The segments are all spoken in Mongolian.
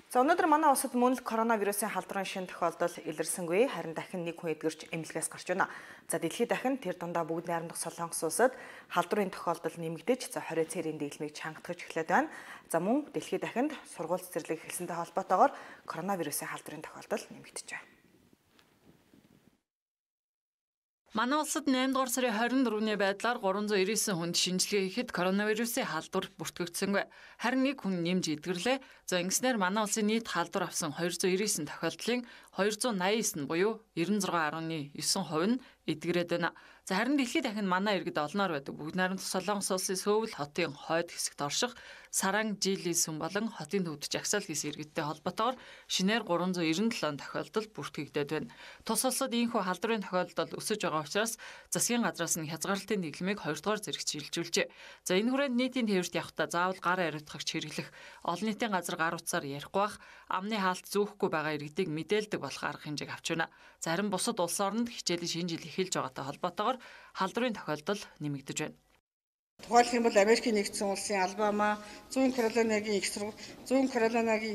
За өнөөдөр манай улсад мөн л коронавирусын халдварын шинэ тохиолдол илэрсэнгүй, харин дахин нэг хүн эдгэрч эмнэлгээс гарч байна. За дэлхийд дахин тэр дундаа бүгд найрамдах Солонгос улсад халдварын тохиолдол нэмэгдэж, за 20 цэрийн дэглэмийг чангатгаж эхлээд байна. За мөн дэлхийд дахинд сургууль цэцэрлэг эхэлсэнтэй холбоотойгоор коронавирусын халдварын тохиолдол нэмэгдэж байна. Манай улсад 8 дугаар сарын 24-ний байдлаар 399 хүнд шинжилгээ хийхэд коронавирусын халдвар бүртгэгдсэнгүй. Харин нэг хүн нэмж эдгэрлээ. За ингэснээр манай улсын нийт халдвар авсан 299 тохиолдлын 289 буюу 96.9% нь эдгэрээд байна. За харин дэлхийд дахин манай иргэд олноор байдаг бүгд найрамдах Солонгос улсын Сөүл хотын хойд хэсэгт орших Саранг Жилийн сүм болон хотын төвд жагсаал хийсэн иргэдтэй холбоотойгоор шинээр 397 тохиолдол бүртгэгдээд байна. Тус улсад ийхүү халдварын тохиолдол өсөж байгаа учраас засгийн газраас нь хязгаарлалтын дэглэмийг 2 дугаар зэрэгт шилжүүлжээ. За энэ хүрээнд нийтийн тээвэрт явахдаа заавал гар ариутгагч хэрэглэх, олон нийтийн газар гар утсаар ярихгүй бах, амны хаалт зүүхгүй байгаа иргэдийг мэдээлдэг болох арга хэмжээг авч байна. За харин бусад улс орнд хичээлийн шинэ жил эхэлж байгаатай холбоотойгоор халдварын тохиолдол нэмэгдэж байна. Тухайлх юм бол Америкийн нэгдсэн улсын Алабама, Зүүн Каролинагийн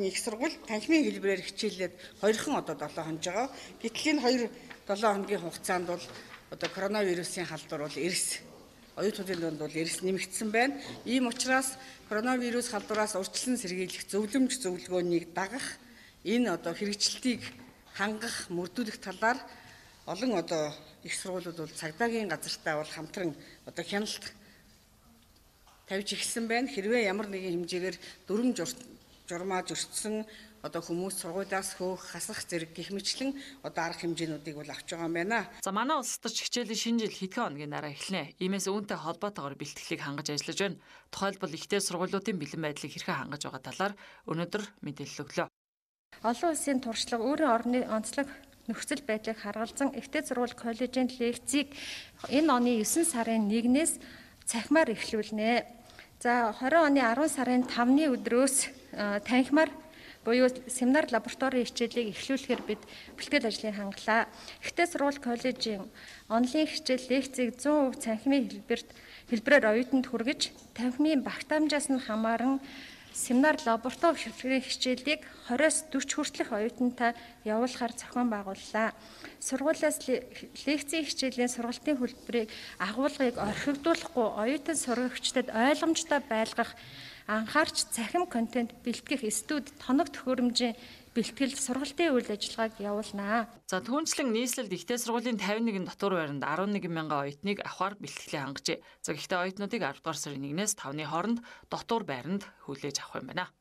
их сургууль танхимын хэлбэрээр хичээлээд 2хан одоо 7 хоног байгаа. Гэтэл энэ 2-7 хоногийн хугацаанд бол одоо коронавирусын халдвар бол оюутнуудын дунд бол эрс нэмэгдсэн байна. Ийм учраас коронавирус халдвараас урьдчилан сэргийлэх зөвлөмж зөвлөгөөнийг дагах, энэ одоо хэрэгжилтийг хангах, мөрдүүлэх талаар олон одоо их сургуулиуд бол цагдаагийн газартай бол хамтран одоо хяналт тавьж ирсэн байна. Хэрвээ ямар нэгэн хэмжээгээр дүрм журмаа зөрчсөн одоо хүмүүс сургуулиас хөөх, хасах зэрэг гэх мэтлэн одоо арга хэмжээнүүдийг бол авч байгаа юм байна. За манай улсад ч хичээлийн шинэ жил хэдхэн хоногийн дараа эхэлнэ. Иймээс үүнтэй холбоотойгоор бэлтгэлийг хангаж ажиллаж байна. Тухайлбал ихтэй сургуулиудын бэлэн байдлыг хэрхэн хангаж байгаа талаар өнөөдөр мэдээлэл өглөө. Олон улсын туршлага өөрийн орны онцлог нөхцөл байдлыг харгалзан ихтэй сургууль коллежийн лекцийг энэ оны 9 сарын 1-ээс цахимаар эхлүүлнэ. За 20 оны 10 сарын 5-ны өдрөөс танхимаар буюу семинар лаборатори хичээлийг эхлүүлэхээр бид бэлтгэл ажлыг хангалаа. Ихтэй сургууль коллежийн онлайн хичээл лекцийг 100% цахимын хэлбэрээр оюутанд хүргэж, танхимын багтаамжаас нь хамааран семинар лаборатори хичээлийг 20-с 40 хүртэлх оюутантай явуулахаар зохион байгууллаа. Сургуулиас лекцийн хичээлийн сургалтын хөтөлбөрийг агуулгыг орхигдуулахгүй оюутан сурагчдад ойлгомжтой байлгах, анхаарч цахим контент бэлтгэх студ тоног төхөөрөмжийн бэлтгэл сургалтын үйл ажиллагааг явуулнаа. За түүнчлэн нийслэлд ихтэй сургуулийн 51 дотор байранд 11 мянган оюутныг авахар бэлтгэлээ хангажээ. За гэхдээ оюутнуудыг 10 дугаар сарын 1-ээс 5-ны хооронд дотор байранд хүлээж авах юм байна.